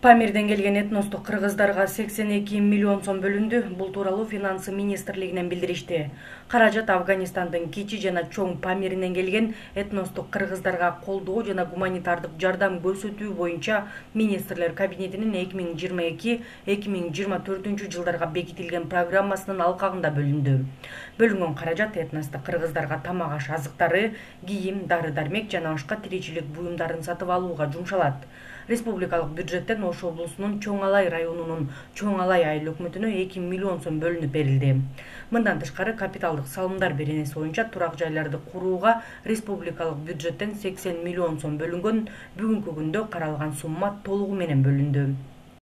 Памирден келген этностук кыргыздарга 82 миллион сом бөлүндү. Бул тууралуу Финансы министрлигинен билдиришти. Каражат Афганистандын кичи жана чоң Памиринен келген этностук кыргыздарга колдоо жана гуманитардык жардам көрсөтүү боюнча министрлер кабинетинин 2022-2024 жылдарга бекитилген программасынын алкагында бөлүндү. Бөлүнгөн каражат этностук кыргыздарга тамак-аш азыктары, кийим, дары-дармек жана башка тиричилик буюмдарын сатып алууга жумшалат. Республикалык бюджеттен Ош облусунун Чоң Алай районунун Чоң Алай айыл өкмөтүнө 2 миллион сом бөлүнүп берилди. Мындан тышкары капиталдык салымдар беренеси боюнча турак жайларды курууга республикалык бюджеттен 80 миллион сом бөлүнгөн. Бүгүнкү күндө каралган сумма толугу менен бөлүндү.